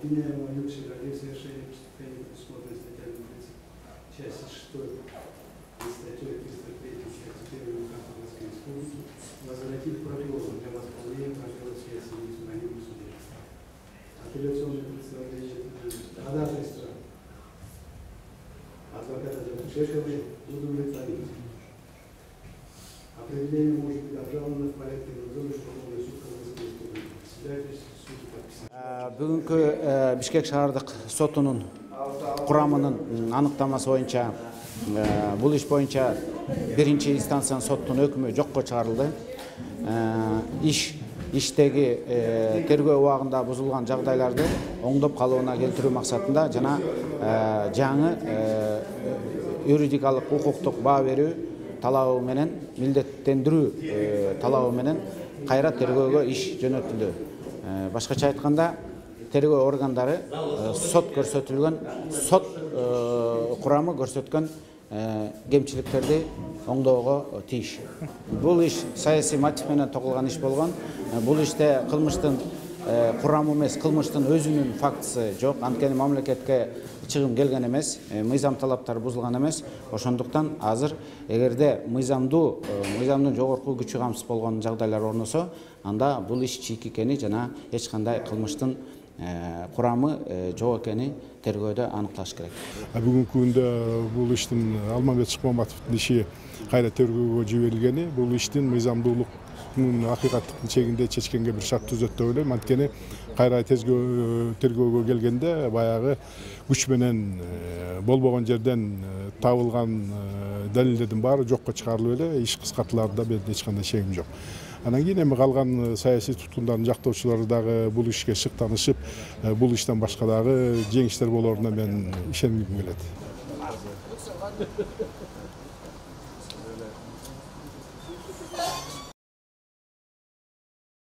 обвиняемого Юкшина в совершении преступления, предусмотренной статьями 30, части 6 и статьей 303 части 1 УК Казахстанской Республики возвратить прокурору для восполнения пробела связи с избранием суде. Апелляционное представление ходатайства адвоката Шешевой удовлетворить. Определение может быть обжаловано в порядке надзора Верховный суд Казахстанской Республики. Председательство суда подписано. Бүгүнкү Бишкек шаардык сотунун курамынын аныктамасы боюнча бул иш боюнча биринчи инстанциянын соттун өкүмү жокко чыгарылды. Иштеги тергөө убагында бузулган жагдайларды оңдоп калыбына келтирүү максатында жана жаңы юридикалык укуктук баа берүү талабы менен милдеттендирүү талабы менен кайра тергөөгө иш жөнөтүлдү. Башкача айтканда тергөө органдары сот курамы көрсөткөн кемчиликтерди оңдоого тийиш. Бул иш саясий мотив менен тогулган иш болгон. Бул иште кылмыштын курамы эмес, кылмыштын өзүнүн фактысы жок. Анткени мамлекетке чыгым келген эмес, мыйзам талаптары бузулган эмес. Ошондуктан азыр эгерде мыйзамдын жогорку күчү камсыз болгон жагдайлар орносо, анда бул иш чийик экени жана эч кандай кылмыштын курамы жок экени тергөөдө аныкталыш керек. Бүгүнкү күндө бул иштин Алмамбет Шыкмаматовдун иши кайра тергөөгө жиберилгени, бул иштин мыйзамдуулуктун акыйкаттыктын чегинде чечкенге бир шарт түзөт деп ойлойм. Анткени кайра тергөөгө келгенде баягы күч менен болбогон жерден табылган далилдердин баары жокко чыгарылып эле иш кыскартыларда менин эч кандай шегим жок. Анан кийин эми калган саясий туткундардын жактоочулары дагы бул ишке шыктанышып, бул иштен башка дагы жеңиштер болоруна мен ишенгим келет.